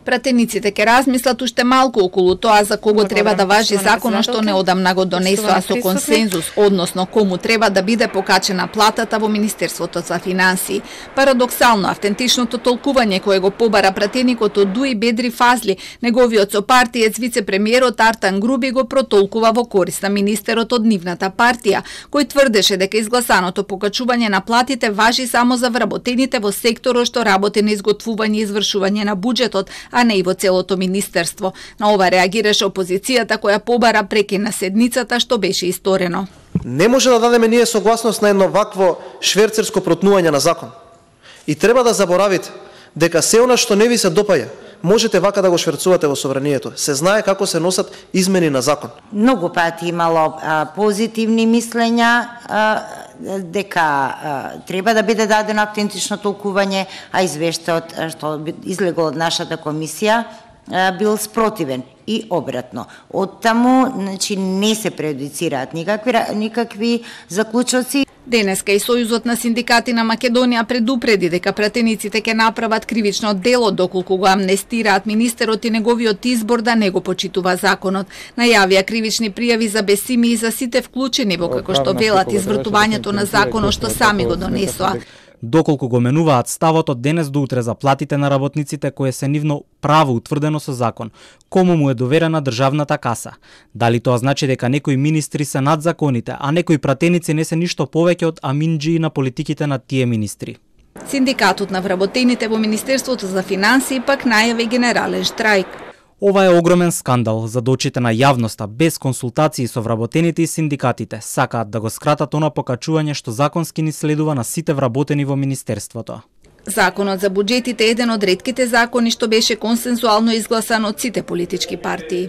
Пратениците ќе размислат уште малку околу тоа за кого треба да важи законот што неодамна го донесоа со консензус, односно кому треба да биде покачена платата во Министерството за финансии. Парадоксално, автентичното толкување кое го побара пратеникот од Дуи Бедри Фазли, неговиот сопартиец вице-премиерот Артан Груби го протолкува во корист на министерот од нивната партија, кој тврдеше дека изгласаното покачување на платите важи само за вработените во секторот што работи на изготвување и извршување на буџетот, а не и во целото министерство. На ова реагираше опозицијата која побара прекин на седницата што беше исторено. Не може да дадеме ние согласност на едно вакво шверцерско протнување на закон. И треба да заборавите дека се она што не ви се допаѓа, можете вака да го шверцувате во собранието. Се знае како се носат измени на закон. Многу пати имало позитивни мислења дека треба да биде дадено автентично толкување, а извештајот што излегол од нашата комисија бил спротивен и обратно. Оттаму, значи, не се прејудицираат никакви заклучоци. Денеска и Сојузот на синдикати на Македонија предупреди дека пратениците ќе направат кривично дело доколку го амнестираат министерот и неговиот избор да не го почитува законот. Најавија кривични пријави за Бесими и за сите вклучени во како што велат извртувањето на законот што сами го донесоа. Доколку го менуваат ставот од денес до утре за платите на работниците кое се нивно право утврдено со закон, кому му е доверена државната каса. Дали тоа значи дека некои министри се над законите, а некои пратеници не се ништо повеќе од аминџии на политиките на тие министри? Синдикатот на вработените во Министерството за финансии пак најави генерален штрајк. Ова е огромен скандал за очите на јавноста, без консултации со вработените и синдикатите. Сакаат да го скратат она покачување што законски ни следува на сите вработени во Министерството. Законот за буџетите е еден од ретките закони што беше консензуално изгласан од сите политички партии.